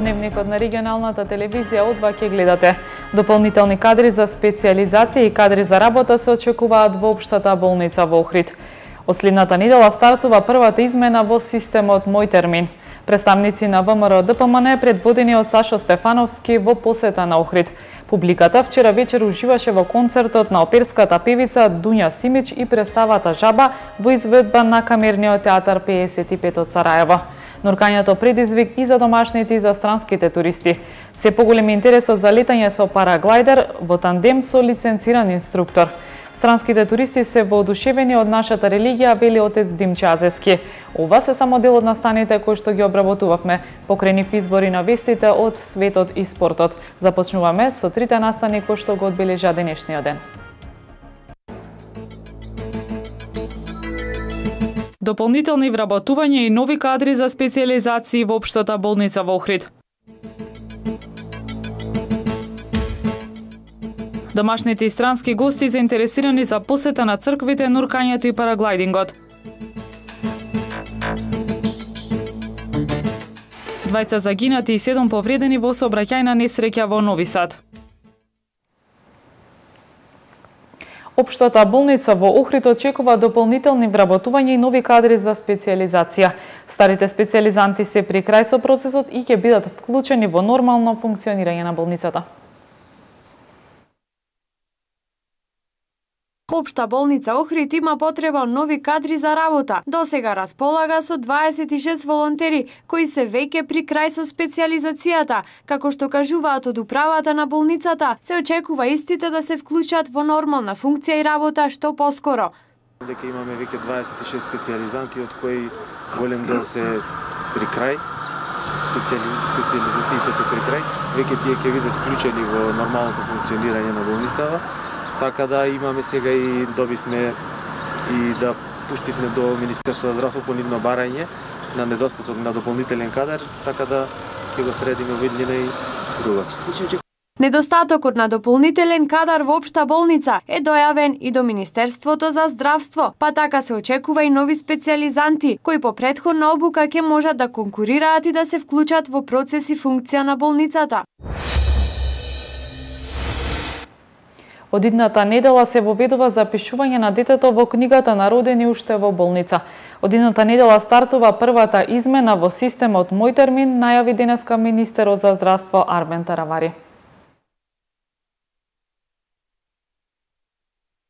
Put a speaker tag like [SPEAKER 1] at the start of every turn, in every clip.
[SPEAKER 1] Дневникот на регионалната телевизија од ќе гледате. Дополнителни кадри за специјализација и кадри за работа се очекуваат во општата болница во Охрид. Од следната недела стартува првата измена во системот Мој термин. Представници на ВМРО ДПМН предводени од Сашо Стефановски во посета на Охрид. Публиката вчера вечер уживаше во концертот на оперската певица Дуња Симич и представата Жаба во изведба на Камерниот театар 55 од Сараево. Нуркањето предизвик и за домашните и за странските туристи. Се поголем интересот за летање со параглайдер во тандем со лиценциран инструктор. Странските туристи се воодушевени од нашата религија, вели отец Димче Азески. Ова се само дел од настаните кои што ги обработувавме, покрај избори на вестите од светот и спортот. Започнуваме со трите настани кои што го одбележа денешниот ден. Дополнителни вработувања и нови кадри за специјализации во општата болница во Охрид. Домашните и странски гости заинтересирани за посета на црквите, нуркањето и параглайдингот. 2 загинати и 7 повредени во сообраќајна несреќа во Нови Сад. Општата болница во Охрид очекува дополнителни вработувања и нови кадри за специјализација. Старите специјализанти се при крај со процесот и ќе бидат вклучени во нормално функционирање на болницата.
[SPEAKER 2] Општа болница Охрид има потреба нови кадри за работа. Досега располага со 26 волонтери кои се веќе при крај со специјализацијата. Како што кажуваат од управата на болницата, се очекува истите да се вклучат во нормална функција и работа што поскоро.
[SPEAKER 3] Дека имаме веќе 26 специјализанти од кои голем дел се при крај. Специјализациите се при крај. Веќе тие ќе бидат вклучени во нормалното функционирање на болницава. Така да имаме сега и добивме и да пуштивме до Министерство за здравство по нивно барање на недостаток на дополнителен кадар, така да ќе го средиме во иднина и другото.
[SPEAKER 2] Недостатокот на дополнителен кадар во општа болница е дојавен и до Министерството за здравство, па така се очекува и нови специјализанти кои по претходна обука ќе можат да конкурираат и да се вклучат во процес и функција на болницата.
[SPEAKER 1] Од идната недела се воведува запишување на детето во книгата на родени уште во болница. Од идната недела стартува првата измена во системот Мој термин, најави денеска министерот за здравство Арбен Таравари.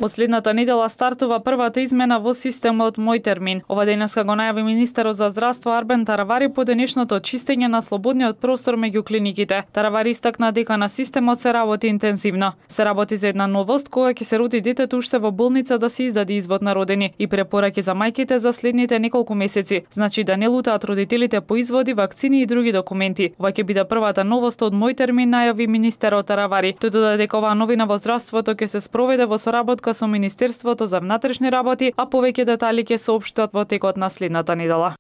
[SPEAKER 1] Од следната недела стартува првата измена во системот Мој термин. Ова денеска го најави министерот за здравство Арбен Таравари по денешното чистење на слободниот простор меѓу клиниките. Таравари истакна дека на системот се работи интензивно. Се работи за една новост кога ќе се роди детето уште во болница да се издаде извод на родени и препораки за мајките за следните неколку месеци. Значи да не лутаат родителите по изводи, вакцини и други документи. Ова ќе биде првата новост од Мој термин, најави министерот Таравари. Тој додаде дека оваа новина во здравството ќе се спроведе во соработка со Министерството за внатрешни работи, а повеќе детали ќе се соопштат во текот на следната недела.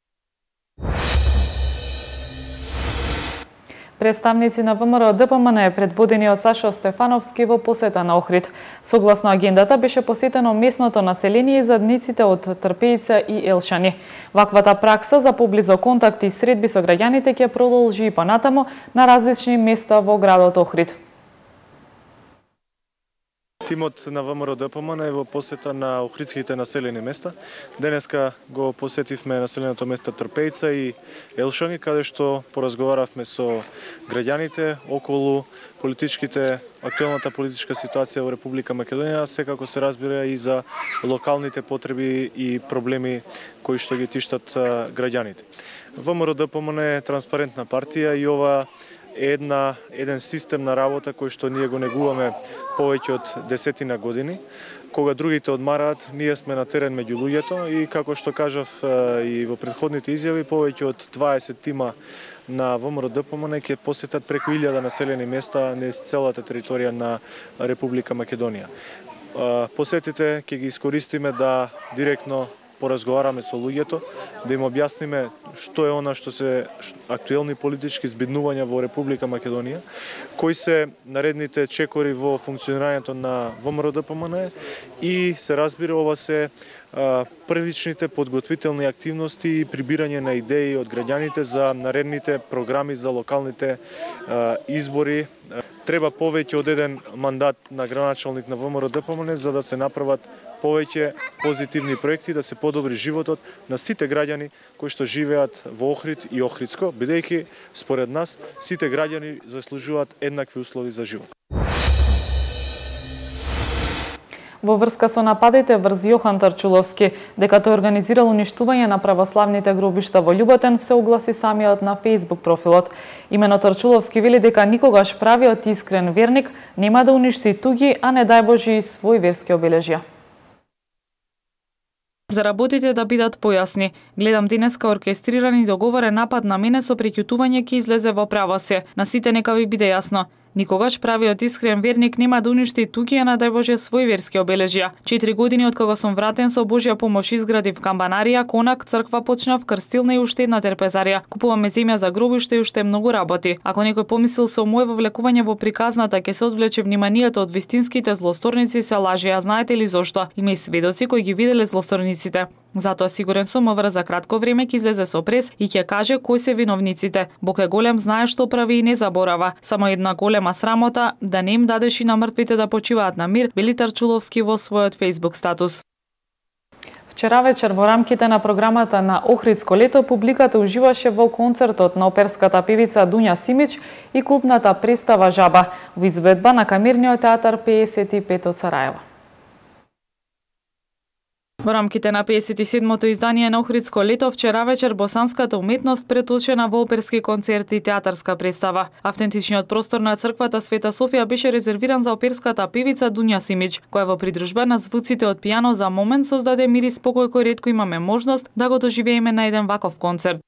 [SPEAKER 1] Представници на ВМРО ДПМН предводени од Сашо Стефановски во посета на Охрид. Согласно агендата беше посетено местното население и задниците од Трпејица и Елшани. Ваквата пракса за поблизо контакти и средби со граѓаните ќе продолжи и понатаму на различни места во градот Охрид.
[SPEAKER 4] Тимот на ВМРО ДПМН е во посета на охридските населени места. Денеска го посетивме населеното место Трпејица и Елшани, каде што поразговаравме со граѓаните околу актуелната политичка ситуација во Република Македонија, секако се разбира и за локалните потреби и проблеми кои што ги тиштат граѓаните. ВМРО ДПМН е транспарентна партија и ова е еден систем на работа кој што ние го негуваме повеќе од 10 години. Кога другите одмараат, ние сме на терен меѓу луѓето и како што кажав и во претходните изјави, повеќе од 20 тима на ВМРО ДПМН ќе посетат преку 1000 населени места низ целата територија на Република Македонија. Посетите ќе ги искористиме да директно поразговараме со луѓето, да им објасниме што е она што се актуелни политички збиднувања во Република Македонија, кои се наредните чекори во функционирањето на ВМРО ДПМН и се разбира ова се првичните подготвителни активности и прибирање на идеи од граѓаните за наредните програми за локалните избори. Треба повеќе од еден мандат на градоначалник на ВМРО ДПМН за да се направат повеќе позитивни проекти, да се подобри животот на сите граѓани кои што живеат во Охрид и Охридско, бидејќи според нас сите граѓани заслужуваат еднакви услови за живот.
[SPEAKER 1] Во врска со нападите врз Јохан Тарчуловски, дека тој организирал уништување на православните гробишта во Љуботен, се огласи самиот на Facebook профилот. Имено Тарчуловски вели дека никогаш правиот искрен верник нема да уништи туги, а не дај Божи свој верски обележја. За работите да бидат појасни, гледам денеска оркестриран и договорен напад на мене со преќутување ќе излезе во правосе. На сите нека ви биде јасно. Никогаш правиот искрен верник нема да уништи туѓи, а надај Боже свој верски обележја. 4 години од кога сум вратен со Божја помош изградив камбанарија, конак, црква почнав, крстилна и уште една терпезарија. Купуваме земја за гробиште и уште многу работи. Ако некој помислил со моје вовлекување во приказната ќе се одвлече вниманието од вистинските злосторници, се лаже, а знаете ли зошто? Има и сведоци кои ги виделе злосторниците. Затоа сигурен сум МВР за кратко време ќе излезе со прес и ќе каже кои се виновниците. Бог е голем, знае што прави и не заборава. Само една голема срамота да не им дадеш и на мртвите да почиваат на мир, вели Тарчуловски во својот Facebook статус. Вчера вечер во рамките на програмата на Охридско лето публиката уживаше во концертот на оперската певица Дуња Симич и култната представа Жаба во изведба на Камерниот театар 55 од Сараево. Во рамките на 57-то издание на Охридско лето вчера вечер босанската уметност преточена во оперски концерт и театарска представа. Автентичниот простор на црквата Света Софија беше резервиран за оперската певица Дуња Симич, која во придружба на звуците од пијано за момент создаде мир и спокој кој ретко имаме можност да го доживееме на еден ваков концерт.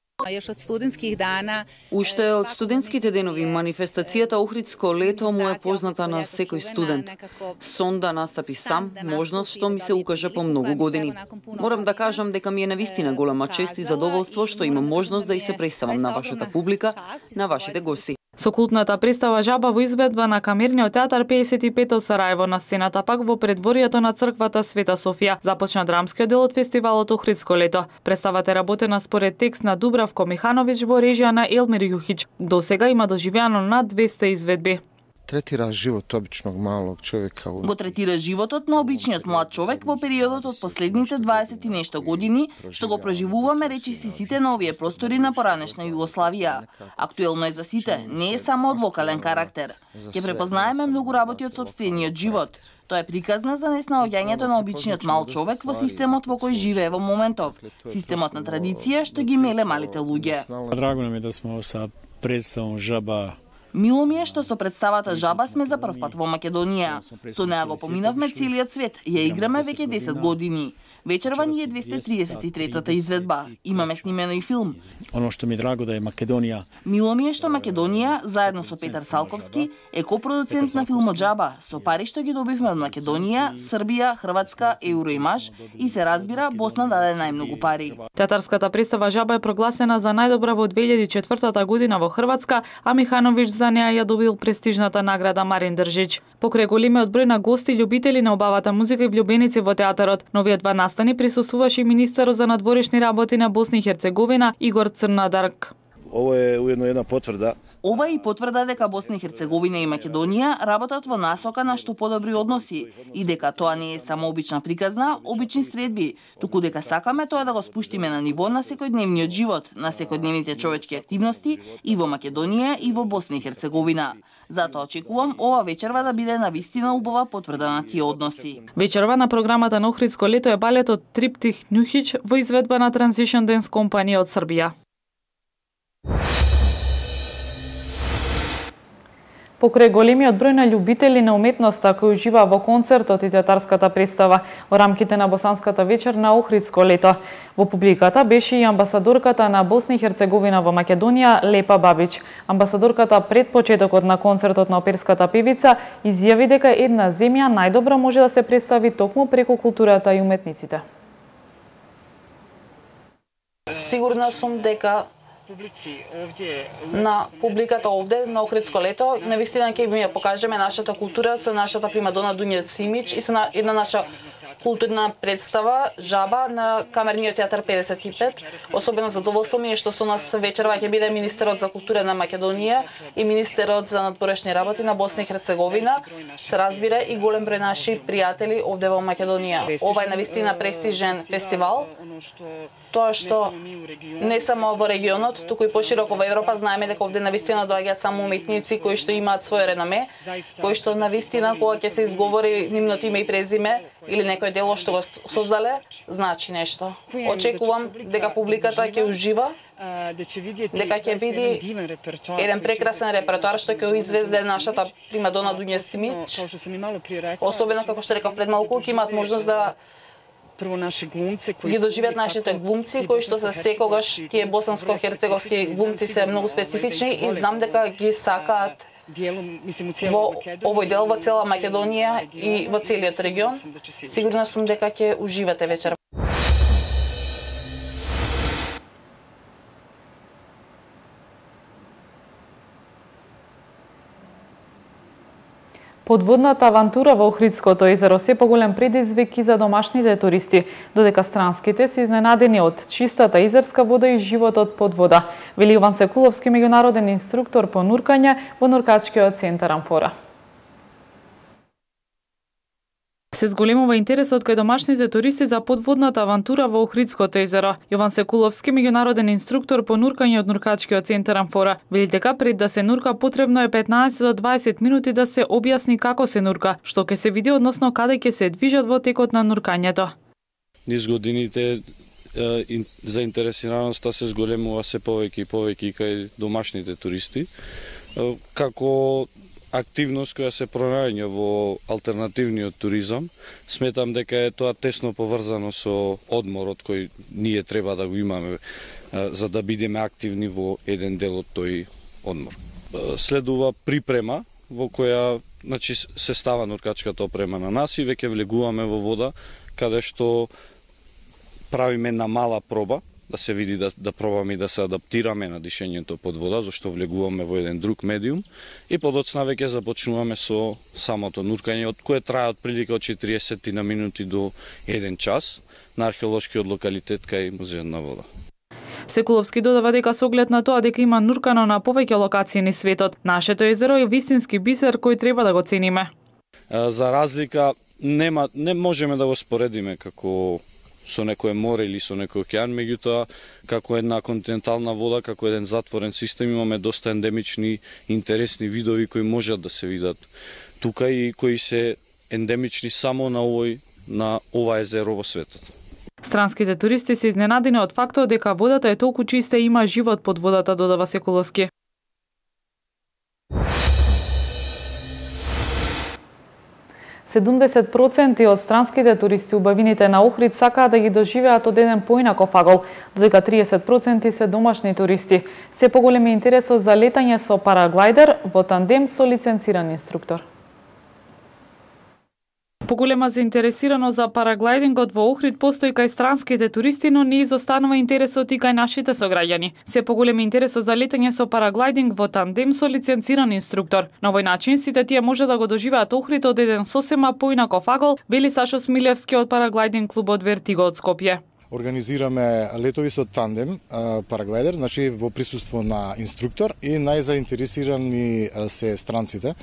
[SPEAKER 5] Уште од студентските денови манифестацијата Охридско лето му е позната на секој студент. Сон да настапи сам, можност што ми се укажа по многу години. Морам да кажам дека ми е навистина голема чест и задоволство што имам можност да и се представам на вашата публика, на вашите гости.
[SPEAKER 1] Со култната представа Жаба во изведба на Камерниот театар 55 од Сараево на сцената пак во предворието на црквата Света Софија започна драмскиот дел од фестивалот Охридско лето. Представата е работена според текст на Дубравко Михановиќ во режија на Елмир Јухиќ. До сега има доживеано над 200 изведби.
[SPEAKER 6] Третира живот обичnog малог човека.
[SPEAKER 5] Го третира животот на обичниот млад човек во периодот од последните 20 и нешто години, што го преживуваме речиси сите на овие простори на поранешна Југославија. Актуелно е за сите, не е само од локален карактер. Ќе препознаеме многу работи од сопствениот живот. Тоа е приказна за неснаоѓањето на обичниот мал човек во системот во кој живее во моментов. Системот на традиција што ги меле малите луѓе.
[SPEAKER 7] Драго нам е да сме со представом Жаба.
[SPEAKER 5] Мило ми е што со представата Жаба сме за прв пат во Македонија. Со неа го поминавме целиот свет, ја играме веќе 10 години. Вечерва ни е 233-та изведба. Имаме снимено и филм.
[SPEAKER 7] Оно што ми драго да е Македонија.
[SPEAKER 5] Мило ми е што Македонија, заедно со Петар Салковски, е копродуцент на филмот Жаба, со пари што ги добивме од Македонија, Србија, Хрватска, Евроимаш и се разбира Босна даде најмногу пари.
[SPEAKER 1] Театарската представа Жаба е прогласена за најдобра во 2004 година во Хрватска, а Михановиќ за неа ја добил престижната награда Марин Држич. Покрај големиот број на гости и љубители на убавата музика и влюбеници во театарот, на овие два настани присуствуваше и министерот за надворешни работи на Босна и Херцеговина Игор Црнадарк.
[SPEAKER 8] Ово е уедно една потврда.
[SPEAKER 5] Ова е и потврда дека Босна и Херцеговина и Македонија работат во насока на што подобри односи и дека тоа не е само обична приказна, обични средби, туку дека сакаме тоа да го спуштиме на ниво на секојдневниот живот, на секојдневните човечки активности и во Македонија и во Босна и Херцеговина. Затоа очекувам ова вечерва да биде навистина убава потврда на тие односи.
[SPEAKER 1] Вечерва на програмата на Охридско лето е балетот Триптих Њухиќ во изведба на Transition Dance Company од Србија. Покрај големиот број на љубители на уметноста кои ужива во концертот и театарската представа во рамките на Босанската вечер на Охридско лето, во публиката беше и амбасадорката на Босна и Херцеговина во Македонија Лепа Бабич. Амбасадорката пред почетокот на концертот на оперската певица изјави дека една земја најдобро може да се представи токму преку културата и уметниците.
[SPEAKER 9] Сигурна сум дека на публиката овде на Охридско лето навистина ќе ми ја покажеме нашата култура со нашата примадона Дуња Симич и со една наша културна представа Жаба на Камерниот театар 55. Особено задоволство ми е што со нас вечерва ќе биде министерот за култура на Македонија и министерот за надворешни работи на Босна и Херцеговина. Се разбира и голем број наши пријатели овде во Македонија. Ова е навистина престижен фестивал. Тоа што не само во регионот, туку и пошироко во Европа знаеме дека овде навистина доаѓаат само уметници кои што имаат своје реноме, кои што навистина кога ќе се изговори нивното име и презиме или некој дело што го создале, значи нешто. Очекувам дека публиката ќе ужива, дека ќе види еден прекрасен репертоар што ќе извезде нашата примадона Дуња Симич. Особено како што рекав пред малку, ќе имаат можност да ги доживеат нашите глумци кои што се секогаш тие босанско-херцеговски глумци се многу специфични и знам дека ги сакаат во овој дел во цела Македонија и во целиот регион. Сигурна сум дека ќе уживате вечер.
[SPEAKER 1] Подводната авантура во Охридското езеро се поголем предизвик и за домашните туристи, додека странските се изненадени од чистата езерска вода и животот под вода, вели Јован Секуловски, меѓународен инструктор по нуркање во нуркачкиот центар Амфора. Се зголемува интересот кај домашните туристи за подводната авантура во Охридското езеро. Јован Секуловски, меѓународен инструктор по нуркање од нуркачкиот центар Амфора, вели дека пред да се нурка потребно е 15 до 20 минути да се објасни како се нурка, што ќе се види односно каде ќе се движат во текот на нуркањето.
[SPEAKER 10] Низ годините заинтересираноста се зголемува се повеќе и повеќе кај домашните туристи, како активност која се пронаоѓа во алтернативниот туризам. Сметам дека е тоа тесно поврзано со одморот кој ние треба да го имаме за да бидеме активни во еден дел од тој одмор. Следува припрема во која се става нуркачката опрема на нас и веќе влегуваме во вода каде што правиме една мала проба да се види да пробаме и да се адаптираме на дишењето под вода, зашто влегуваме во еден друг медиум и подоцна веќе започнуваме со самото нуркање, од кое трае отприлика од 40 на минути до 1 час на археолошкиот локалитет кај Музеот на вода.
[SPEAKER 1] Секуловски додава дека со оглед на тоа дека има нуркано на повеќе локации низ светот, нашето езеро е вистински бисер кој треба да го цениме.
[SPEAKER 10] За разлика не можеме да го споредиме како со некој море или со некој океан, меѓутоа како една континентална вода, како еден затворен систем имаме доста ендемични интересни видови кои можат да се видат тука и кои се ендемични само на ова езеро во светот.
[SPEAKER 1] Странските туристи се изненадени од фактот дека водата е толку чиста и има живот под водата, додава Секуловски. %70% од странските туристи убавините на Охрид сакаат да ги доживеат од еден поинаков агол, додека 30% се домашни туристи. Се поголеми интересот за летање со параглайдер во тандем со лиценциран инструктор. Поголема заинтересираност за параглайдингот во Охрид постои кај странските туристи, но не изостанува интересот и кај нашите сограѓани. Се поголеми интересот за летање со параглайдинг во тандем со лиценциран инструктор. На овој начин сите тие може да го доживеат Охрид од еден сосема поинаков агол, вели Сашо Смилевски од параглайдинг клубот Вертиго од Скопје.
[SPEAKER 8] Организираме летови со тандем параглайдер, значи во присуство на инструктор и најзаинтересирани се странците.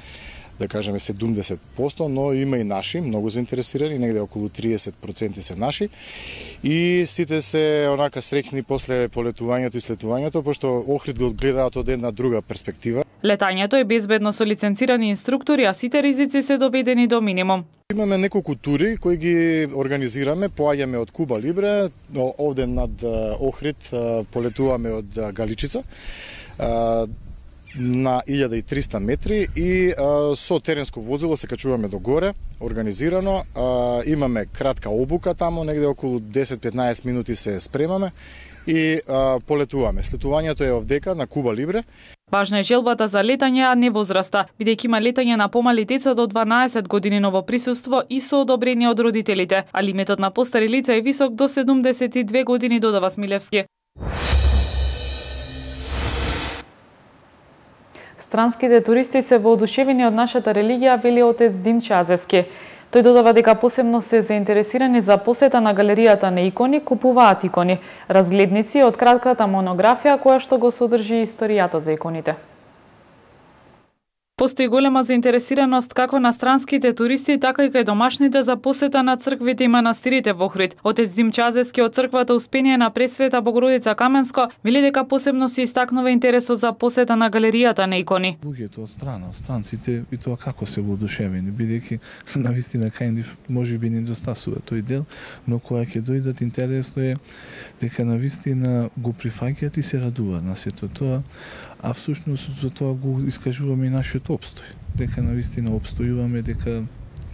[SPEAKER 8] Да кажеме 70%, но има и наши, многу заинтересирани, негде околу 30% се наши. И сите се онака среќни после полетувањето и слетувањето, пошто Охрид го гледаат од една друга перспектива.
[SPEAKER 1] Летањето е безбедно со лиценцирани инструктори, а сите ризици се доведени до минимум.
[SPEAKER 8] Имаме неколку тури кои ги организираме, поаѓаме од Куба Либре, овде над Охрид полетуваме од Галичица на 1300 метри и со теренско возило се качуваме до горе, организирано. Имаме кратка обука тамо, негде околу 10-15 минути се спремаме и полетуваме. Слетувањето е овдека на Куба Либре.
[SPEAKER 1] Важна е желбата за летање, а не возраста, бидејќи има летање на помали деца до 12 години, но во присуство и со одобрение од родителите, а лимитот на постари лица е висок до 72 години, додава Смилевски. Странските туристи се воодушевени од нашата религија, вели отец Димче Азески. Тој додава дека посебно се заинтересирани за посета на галеријата на икони, купуваат икони, разгледници од кратката монографија која што го содржи историјата за иконите. Постои голема заинтересираност како на странските туристи, така и кај домашните за посета на црквите и манастирите во Охрид. Отец Дим Чазевски од црквата Успение на Пресвета Богородица Каменско вели дека посебно се истакнува интересот за посета на галеријата на икони.
[SPEAKER 11] Луѓето од страна, странците и тоа како се воодушевени, бидејќи навистина кај нив можеби не недостасува тој дел, но кога ќе дојдат интересно е дека навистина го прифаќаат и се радуваат на сето тоа. А всушност за тоа го искажуваме и нашиот обстој. Дека навистина обстојуваме, дека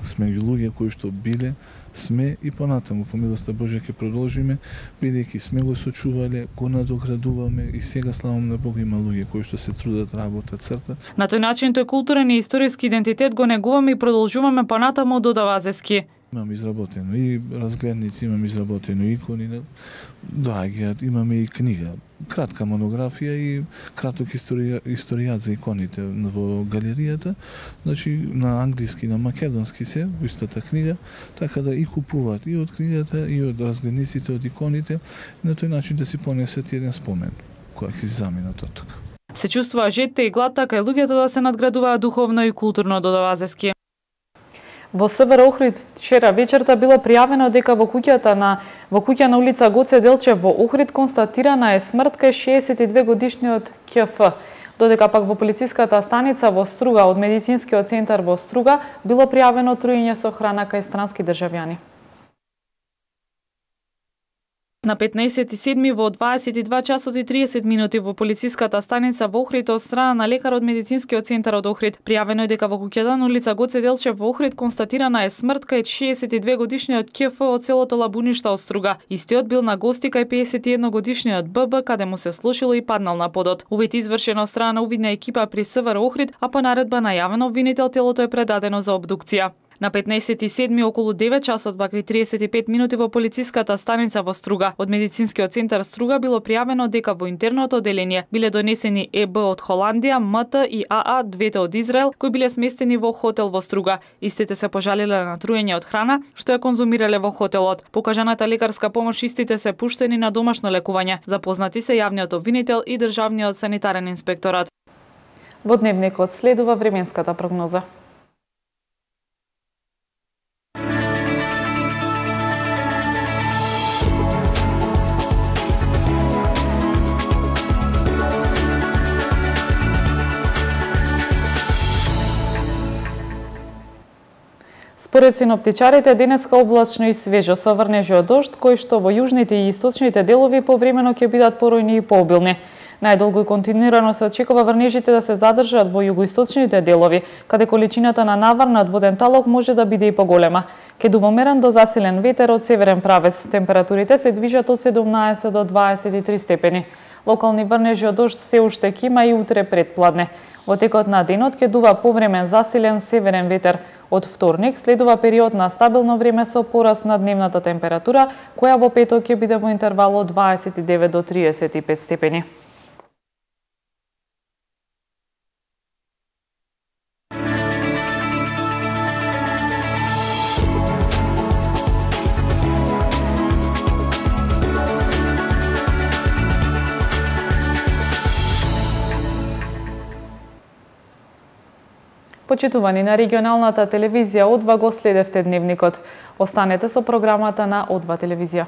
[SPEAKER 11] сме луѓе кои што биле, сме и понатаму по милоста Божја ќе продолжиме, бидејќи сме го сочувале, го надоградуваме и сега славам на Бога има луѓе кои што се трудат, работат, цртат.
[SPEAKER 1] На тој начин тој културен и историски идентитет го негуваме и продолжуваме понатаму, додава Азески.
[SPEAKER 11] Имам изработено и разгледници, имам изработено икони, доаѓаат, имаме и книга, кратка монографија и краток историјат за иконите во галеријата, значи на англиски, на македонски се, во истата книга, така да и купуваат и од книгата, и од разгледниците, од иконите, на тој начин да си понесат еден спомен, која ќе си заминат од тука.
[SPEAKER 1] Се чувствува жете и глад, така и луѓето да се надградуваат духовно и културно, додава Азески. Во СВР Охрид вчера вечерта било пријавено дека во куќа на улица Гоце Делчев во Охрид констатирана е смрт кај 62 годишниот КФ, додека пак во полициската станица во Струга од медицинскиот центар во Струга било пријавено труење со храна кај странски државјани. На 15.7. во 22 часот и 30 минути во полициската станица во Охрид од страна на лекар од медицинскиот центар од Охрид пријавено е дека во куќата на улица Гоце Делчев во Охрид констатирана е смрт кај 62 годишниот КФ од селото Лабуништа од Струга. Истиот бил на гости кај 51 годишниот ББ каде му се слушило и паднал на подот. Увид извршен од страна на увидна екипа при СВР Охрид, а по наредба најавен обвинител телото е предадено за обдукција. На 15.7. околу 9 часот бака и 35 минути во полициската станица во Струга од медицинскиот центар Струга било пријавено дека во интерното оделение биле донесени ЕБ од Холандија, МТ и АА, двете од Израел, кои биле сместени во хотел во Струга. Истите се пожалиле на труење од храна што ја конзумирале во хотелот. Покажаната лекарска помош истите се пуштени на домашно лекување. Запознати се јавниот обвинител и државниот санитарен инспекторат. Во дневникот следува временската прогноза. Според синоптичарите, денеска облачно и свежо со врнежи од дожд, кои што во јужните и источните делови повремено ќе бидат поројни и пообилни. Најдолго и континуирано се очекува врнежите да се задржат во југоисточните делови, каде количината на навар над воден талог може да биде и поголема. Ке дува умерен до засилен ветер од северен правец. Температурите се движат од 17 до 23 степени. Локални врнежи од дожд се уште ќе има и утре предпладне. Во текот на денот ќе дува повремен засилен северен ветер. Од вторник следува период на стабилно време со пораст на дневната температура, која во петок ќе биде во интервал од 29 до 35 степени. Почитувани на регионалната телевизија О2 го следевте дневникот. Останете со програмата на О2 телевизија.